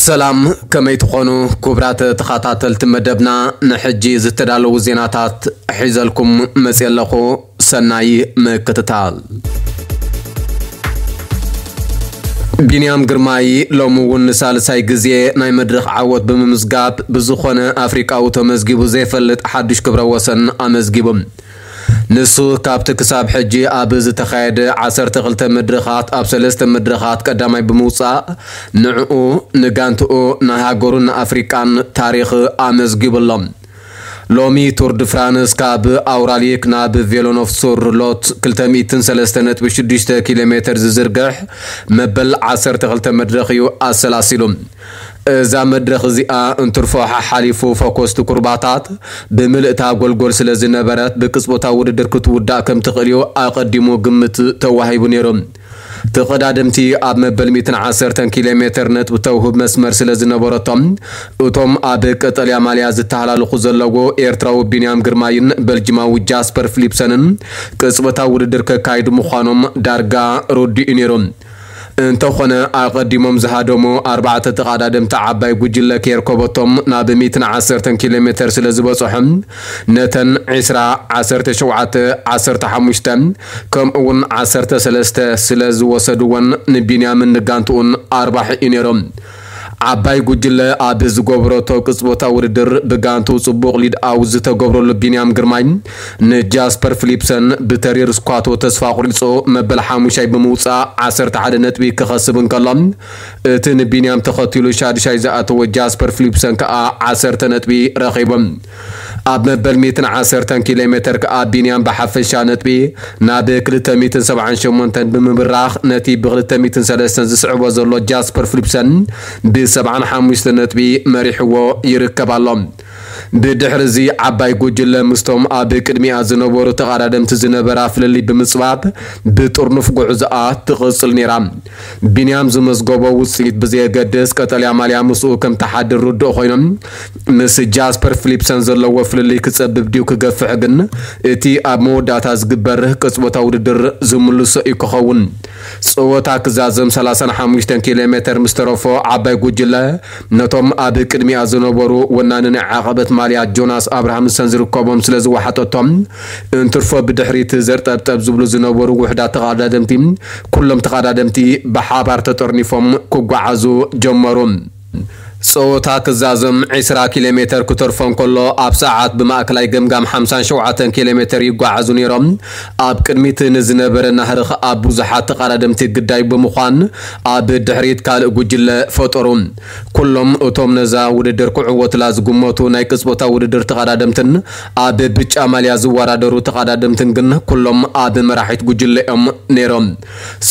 ሰላም፣ ከመይ ትኾኑ ክቡራት ተኸታተልቲ መደብና? ንሕጂ ዝተዳለዉ ዜናታት ሒዘልኩም መፅየ ኣለኹ። ሰናይ ምክትታል። ቢንያም ግርማይ ሎሚ እውን ንሳልሳይ ግዜ ናይ መድረኽ ዓወት ብምምዝጋብ ብዝኾነ ኣፍሪቃዊ ተመዝጊቡ ዘይፈልጥ ሓዱሽ ክብረ ወሰን ኣመዝጊቡ። ንሱ ካብቲ ክሳብ ሕጂ ኣብ ዝተኻየደ ዓሰርተ ክልተ መድረኻት ኣብ ሰለስተ መድረኻት ቀዳማይ ብምውጻእ ንዕኡ ንጋንትኡ ናይ ሃገሩን ንኣፍሪቃን ታሪኽ ኣመዝጊቡ ኣሎ። ሎሚ ቱር ድ ፍራንስ ካብ ኣውራሊክ ናብ ቬሎኖቭ ሱር ሎት ክልተ ሚእትን ሰለስተ ነጥቢ ሽዱሽተ ኪሎ ሜትር ዝዝርግሕ መበል ዓሰርተ ክልተ መድረኽ እዩ ኣሰላሲሉ። እዛ መድረኽ እዚኣ እንትርፎ ሓሓሊፉ ፈኮስቲ ኩርባታት ብምልእታ ጎልጎል ስለ ዝነበረት ብቅጽበታዊ ውድድር ክትውዳእ ከም ትኽእል እዩ ኣቐዲሙ ግምት ተዋሂቡ ነይሩ። ተቐዳደምቲ ኣብ መበል ሚእትን ዓሰርተን ኪሎ ሜትር ነጥቢ ተውህብ መስመር ስለ ዝነበረቶም እቶም ኣብ ቀጠልያ ማልያ ዝተሃላለኹ ዘለዉ ኤርትራዊ ቢንያም ግርማይን በልጅማዊ ጃስፐር ፍሊፕሰንን ቅጽበታዊ ውድድር ከካይዱ ምዃኖም ዳርጋ ርዱእ እዩ ነይሩ። እንተኾነ ኣቐዲሞም ዝሃደሙ ኣርባዕተ ተቐዳደምቲ ዓባይ ጉጅለ ከየርከበቶም ናብ ሚእትን ዓሰርተን ኪሎ ሜትር ስለ ዝበጽሖም ነተን ዕስራ፣ ዓሰርተ ሸውዓተ፣ ዓሰርተ ሓሙሽተ ከምኡ እውን ዓሰርተ ሰለስተ ስለ ዝወሰድወን ንቢንያምን ንጋንትኡን ኣርባሒ እዩ ነይሮም። ዓባይ ጉጅለ ኣብ ዝገበረቶ ቅጽበታዊ ውድድር ብጋንቱ ጽቡቕ ሊድ ኣውት ዝተገብረሉ ቢንያም ግርማይ ንጃስፐር ፍሊፕሰን ብተሪር ስኳቶ ተስፋ ኣቑሪጹ መበል ሓሙሻይ ብምውጻእ ዓሰርተ ሓደ ነጥቢ ክኸስብ እንከሎ እቲ ንቢንያም ተኸቲሉ ሻድሻይ ዝኣተወ ጃስፐር ፍሊፕሰን ከኣ ዓሰርተ ነጥቢ ረኺቡ። ኣብ መበል ሚእትን ዓሰርተን ኪሎ ሜትር ከኣ ቢንያም ብሓፈሻ ነጥቢ ናብ ክልተ ሚእትን ሰብዓን ሸሞንተን ብምብራኽ ነቲ ብ ክልተ ሚእትን ሰለስተን ዝስዕቦ ዘሎ ጃስፐር ፍሊፕሰን ብ ሰብዓን ሓሙሽተ ነጥቢ መሪሕዎ ይርከብ ኣሎ። ብድሕሪ እዚ ዓባይ ጉጅለ ምስቶም ኣብ ቅድሚኣ ዝነበሩ ተቐዳደምቲ ዝነበራ ፍልልይ ብምጽባብ ብጥርኑፍ ጉዕዞኣ ትቕጽል ነይራ። ቢንያም ዝመዝገቦ ውጽኢት ብዘየገድስ ቀጠልያ ማልያ ምስኡ ከም ተሓድር ርዱእ ኮይኖም ምስ ጃስፐር ፍሊፕሰን ዘለዎ ፍልልይ ክጸብብ ድዩ ክገፍሕ ግን እቲ ኣብ መወዳእታ ዝግበር ቅጽበታዊ ውድድር ዝምልሶ እዩ ክኸውን። ጸወታ ክዛዘም ሰላሳን ሓሙሽተን ኪሎ ሜትር ምስ ተረፎ ዓባይ ጉጅለ ነቶም ኣብ ቅድሚኣ ዝነበሩ ወናኒ ናይ ዓቐበት ማልያ ጆናስ ኣብርሃምሰን ዝርከቦም ስለ ዝወሓጠቶም እንትርፎ ብድሕሪት ዘርጠብጠብ ዝብሉ ዝነበሩ ውሕዳት ተቐዳደምቲ ኩሎም ተቐዳደምቲ ብሓባር ተጠርኒፎም ክጓዓዙ ጀመሩ። ጸወታ ክዛዘም ዕስራ ኪሎ ሜትር ክተርፎ እንከሎ ኣብ ሰዓት ብማእከላይ ገምጋም ሓምሳን ሸውዓተን ኪሎ ሜትር ይጓዓዙ ነይሮም። ኣብ ቅድሚት ንዝነበረ ናህሪ ከኣ ብዙሓት ተቐዳደምቲ ግዳይ ብምዃን ኣብ ድሕሪት ካልእ ጉጅለ ፈጠሩ። ኩሎም እቶም ነዛ ውድድር ክዕወትላ ዝግመቱ ናይ ቅጽበታዊ ውድድር ተቐዳደምትን ኣብ ብጫ ማልያ ዝወዳደሩ ተቐዳደምትን ግን ኩሎም ኣብ መራሒት ጉጅለ እዮም ነይሮም።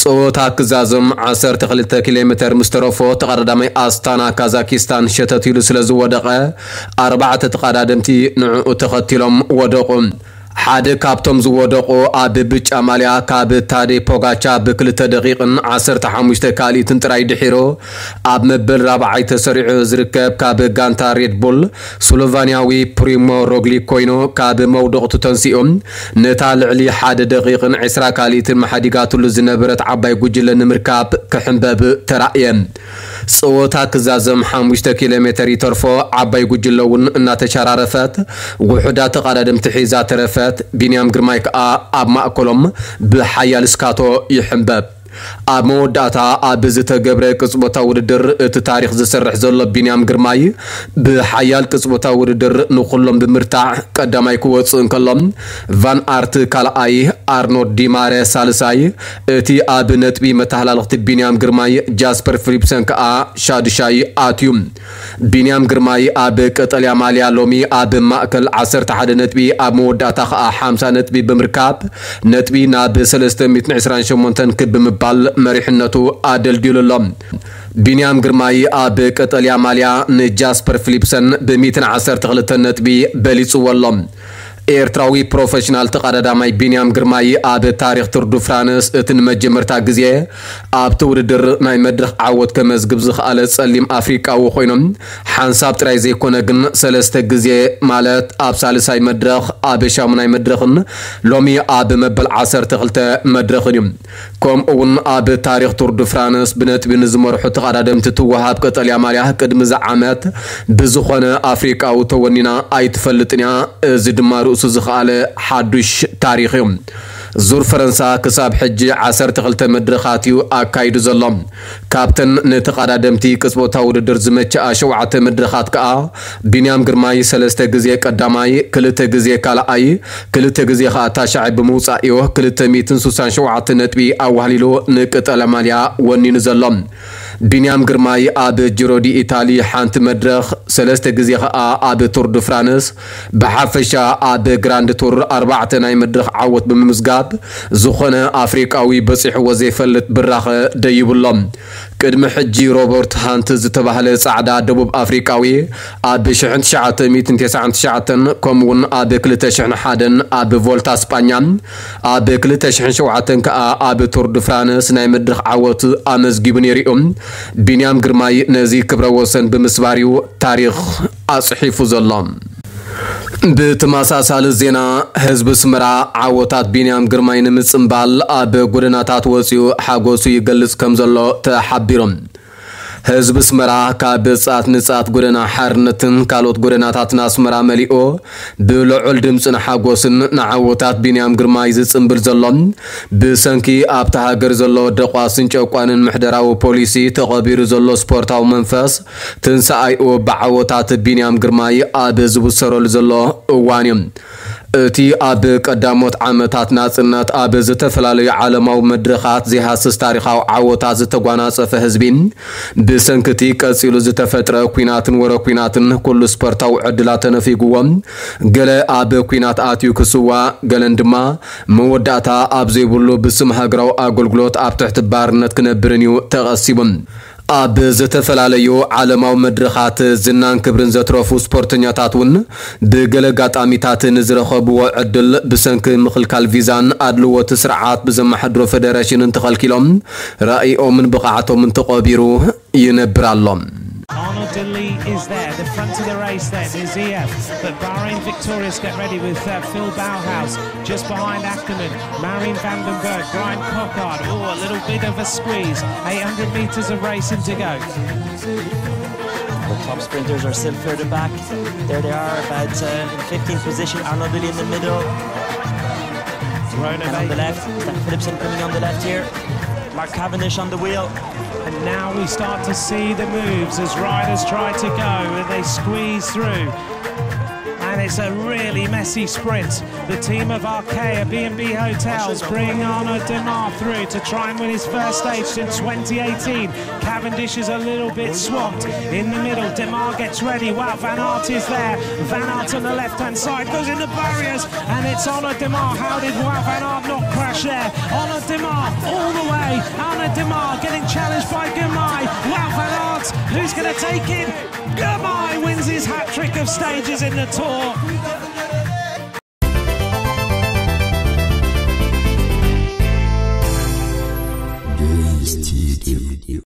ጸወታ ክዛዘም ዓሰርተ ክልተ ኪሎ ሜትር ምስ ተረፎ ተቐዳዳማይ ኣስታና ካዛኪስታን ሸተት ኢሉ ስለ ዝወደቐ ኣርባዕተ ተቐዳደምቲ ንዕኡ ተኸቲሎም ወደቑ። ሓደ ካብቶም ዝወደቑ ኣብ ብጫ ማልያ ካብ ታዴ ፖጋቻ ብክልተ ደቂቕን ዓሰርተ ሓሙሽተ ካልኢትን ጥራይ ድሒሩ ኣብ መበል ራብዓይ ተሰሪዑ ዝርከብ ካብ ጋንታ ሬድ ቡል ስሎቫንያዊ ፕሪሞ ሮግሊክ ኮይኑ ካብ መውደቕቱ ተንሲኡ ነታ ልዕሊ ሓደ ደቂቕን ዕስራ ካልኢትን መሓዲጋትሉ ዝነበረት ዓባይ ጉጅለ ንምርካብ ክሕንበብ ተራእየ። ጸወታ ክዛዘም ሓሙሽተ ኪሎ ሜትር ይተርፎ ዓባይ ጉጅለ እውን እናተሸራረፈት ውሑዳት ተቐዳደምቲ ሒዛ ተረፈት። ቢንያም ግርማይ ከኣ ኣብ ማእከሎም ብሓያል ስካቶ ይሕንበብ። ኣብ መወዳእታ ኣብ ዝተገብረ ቅጽበታዊ ውድድር እቲ ታሪኽ ዝሰርሕ ዘሎ ቢንያም ግርማይ ብሓያል ቅጽበታዊ ውድድር ንኹሎም ብምርታዕ ቀዳማይ ክወጽእ እንከሎ ቫን ኣርት ካልኣይ፣ ኣርኖልድ ዲማረ ሳልሳይ፣ እቲ ኣብ ነጥቢ መተሃላለኽቲ ቢንያም ግርማይ ጃስፐር ፊሊፕሰን ከኣ ሻዱሻይ ኣትዩ። ቢንያም ግርማይ ኣብ ቀጠልያ ማልያ ሎሚ ኣብ ማእከል ዓሰርተ ሓደ ነጥቢ ኣብ መወዳእታ ከኣ ሓምሳ ነጥቢ ብምርካብ ነጥቢ ናብ ሰለስተ ሚእትን ዕስራን ሸሞንተን ክብ ብምባል መሪሕነቱ ኣደልዲሉ ኣሎ። ቢንያም ግርማይ ኣብ ቀጠልያ ማልያ ንጃስፐር ፊሊፕሰን ብ ሚእትን ዓሰርተ ክልተን ነጥቢ በሊጽዎ ኣሎ። ኤርትራዊ ፕሮፌሽናል ተቐዳዳማይ ቢንያም ግርማይ ኣብ ታሪኽ ቱር ዱ ፍራንስ እቲ ንመጀመርታ ግዜ ኣብቲ ውድድር ናይ መድረኽ ዓወት ከመዝግብ ዝኸኣለ ጸሊም ኣፍሪቃዊ ኮይኖም ሓንሳብ ጥራይ ዘይኮነ ግን ሰለስተ ግዜ ማለት ኣብ ሳልሳይ መድረኽ ኣብ ሻሙናይ መድረኽን ሎሚ ኣብ መበል ዓሰርተ ክልተ መድረኽን እዩ። ከምኡ እውን ኣብ ታሪኽ ቱር ድ ፍራንስ ብነጥቢ ንዝመርሑ ተቐዳደምቲ ትወሃብ ቀጠልያ ማልያ ቅድሚ እዚ ዓመት ብዝኾነ ኣፍሪቃዊ ተወኒና ኣይትፈልጥን እያ። እዚ ድማ ርእሱ ዝኸኣለ ሓዱሽ ታሪኽ እዩ። ዙር ፈረንሳ ክሳብ ሕጂ ዓሰርተ ክልተ መድረኻት እዩ ኣካይዱ ዘሎ። ካብተን ንተቐዳደምቲ ቅጽበታዊ ውድድር ዝመችኣ ሸውዓተ መድረኻት ከኣ ቢንያም ግርማይ ሰለስተ ግዜ ቀዳማይ፣ ክልተ ግዜ ካልኣይ፣ ክልተ ግዜ ከኣ ታሽዓይ ብምውጻእ እዩ ክልተ ሚእትን ስሳን ሸውዓተ ነጥቢ ኣዋህሊሉ ንቀጠልያ ማልያ ወኒኑ ዘሎ። ቢንያም ግርማይ ኣብ ጂሮ ዲ ኢታሊ ሓንቲ መድረኽ፣ ሰለስተ ግዜ ከኣ ኣብ ቱር ድ ፍራንስ፣ ብሓፈሻ ኣብ ግራንድ ቱር ኣርባዕተ ናይ መድረኽ ዓወት ብምምዝጋብ ዝኾነ ኣፍሪቃዊ በጺሕዎ ዘይፈልጥ ብራኸ ደይብሎም። ቅድሚ ሕጂ ሮበርት ሃንት ዝተባህለ ጻዕዳ ደቡብ ኣፍሪቃዊ ኣብ ሽሕን ትሽዓተ ሚእትን ተስዓን ትሽዓተን ከምኡውን ኣብ ክልተ ሽሕን ሓደን ኣብ ቮልታ ስጳኛ ኣብ ክልተ ሽሕን ሸውዓተን ከኣ ኣብ ቱር ድ ፍራንስ ናይ መድረኽ ዓወት ኣመዝጊቡ ነይሩ እዩ። ቢንያም ግርማይ ነዚ ክብረ ወሰን ብምስባር እዩ ታሪኽ ኣጽሒፉ ዘሎ። ብተመሳሳሊ ዜና፣ ህዝቢ ኣስመራ ዓወታት ቢንያም ግርማይ ንምጽንባል ኣብ ጎደናታት ወጺኡ ሓጎሱ ይገልጽ ከም ዘሎ ተሓቢሩ። ህዝቢ ኣስመራ ካብ ጻት ንጻት ጎደና ሓርነትን ካልኦት ጎደናታትን ኣስመራ መሊኡ ብልዑል ድምጽን ሓጎስን ንዓወታት ቢንያም ግርማይ ዝጽንብል ዘሎ፣ ብሰንኪ ኣብታ ሃገር ዘሎ ደቋስን ጨቋንን ምሕደራዊ ፖሊሲ ተቐቢሩ ዘሎ ስፖርታዊ መንፈስ ትንሳኤኡ ብዓወታት ቢንያም ግርማይ ኣብ ዝብሰረሉ ዘሎ እዋን እዩ። እቲ ኣብ ቀዳሞት ዓመታት ናጽነት ኣብ ዝተፈላለዩ ዓለማዊ መድረኻት ዘይሃስስ ታሪኻዊ ዓወታት ዝተጓናጸፈ ህዝቢ፣ ብሰንኪ እቲ ቀጺሉ ዝተፈጥረ ኲናትን ወረ ኲናትን ኩሉ ስፖርታዊ ዕድላት ተነፊግዎ፣ ገለ ኣብ ኲናት ኣትዩ ክስዋእ፣ ገለን ድማ መወዳእታ ኣብ ዘይብሉ ብስም ሃገራዊ ኣገልግሎት ኣብ ትሕቲ ባርነት ክነብርን እዩ ተቐሲቡ። ኣብ ዝተፈላለዩ ዓለማዊ መድረኻት ዝናን ክብርን ዘትረፉ ስፖርተኛታት እውን ብገለ ኣጋጣሚታት ንዝረኸብዎ ዕድል ብሰንኪ ምኽልካል ቪዛን ኣድልዎቲ ስርዓት ብዘመሓድሮ ፌደሬሽንን ተኸልኪሎም ራእይኦምን ብቕዓቶምን ተቐቢሩ ይነብር ኣሎ። Arnaud De Lee is there. The front of the race then is E F. But Bahrain Victorious get ready with uh, Phil Bauhaus just behind Ackermann. Marien van den Bergh, Bryan Coquard. Oh, a little bit of a squeeze. eight hundred metres of racing to go. The top sprinters are still further back. There they are, about uh, in fifteenth position. Arnaud De Lee in the middle. And on the left, Stephen Philipsen coming on the left here. Mark Cavendish on the wheel. And now we start to see the moves as riders try to go and they squeeze through. And it's a really messy sprint. The team of Arkéa B and B Hotels bring Arnaud Démare through to try and win his first stage since twenty eighteen. Cavendish is a little bit swamped in the middle. Démare gets ready. Wout van Aert is there. Van Aert on the left-hand side goes in the barriers, and it's Arnaud Démare. How did Wout van Aert not crash there? Arnaud Démare all the way. Arnaud Démare getting challenged by Girmay. Wout van Aert, who's going to take it? Girmay wins his hat-trick of stages in the Tour.